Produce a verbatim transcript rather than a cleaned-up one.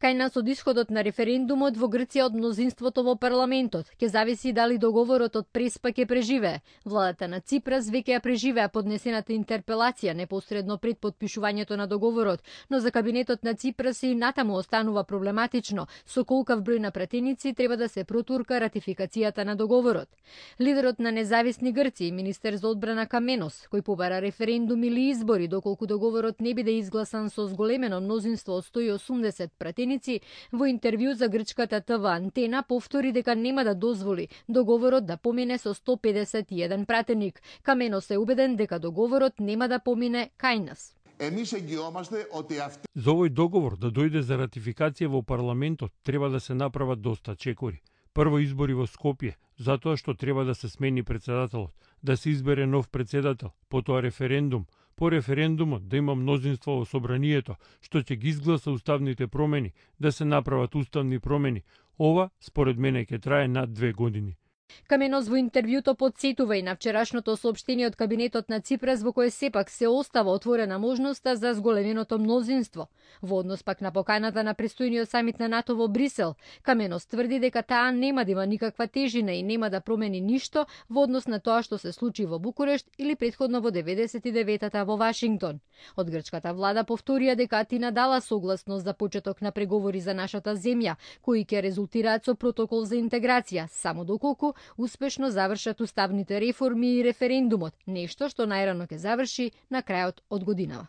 Кај нас од исходот на референдумот во Грција од мнозинството во парламентот ќе зависи дали договорот од Преспа ќе преживее. Владата на Ципрас веќе ја преживеа поднесената интерпелација непосредно пред подпишувањето на договорот, но за кабинетот на Ципрас и натаму останува проблематично. Со колкав број на пратеници треба да се протурка ратификацијата на договорот. Лидерот на независни Грци и министер за одбрана Каменос, кој побара референдум или избори доколку договорот не биде изгласан со зголемено мнозинство од сто и осумдесет пратеници, во интервју за грчката ТВ Антена повтори дека нема да дозволи договорот да помине со сто педесет и еден пратеник. Каменос е убеден дека договорот нема да помине кај нас. За овој договор да дојде за ратификација во парламентот треба да се направат доста чекори. Прво избори во Скопје, затоа што треба да се смени председателот, да се избере нов председател, потоа референдум, по референдумот да има мнозинство во собранието, што ќе ги изгласа уставните промени, да се направат уставни промени. Ова, според мене, ќе трае над две години. Каменос во интервјуто подсетува и на вчерашното соопштение од кабинетот на Ципрас во кое сепак се остава отворена можноста за зголеменото мнозинство. Во однос пак на поканата на престојниот самит на НАТО во Брисел, Каменос тврди дека таа нема да има никаква тежина и нема да промени ништо во однос на тоа што се случи во Букурешт или претходно во деветдесет и деветата во Вашингтон. Од грчката влада повторија дека Атина дала согласност за почеток на преговори за нашата земја, кои ќе резултираат со протокол за интеграција, само доколку успешно завршат уставните реформи и референдумот, нешто што најрано ќе заврши на крајот од годинава.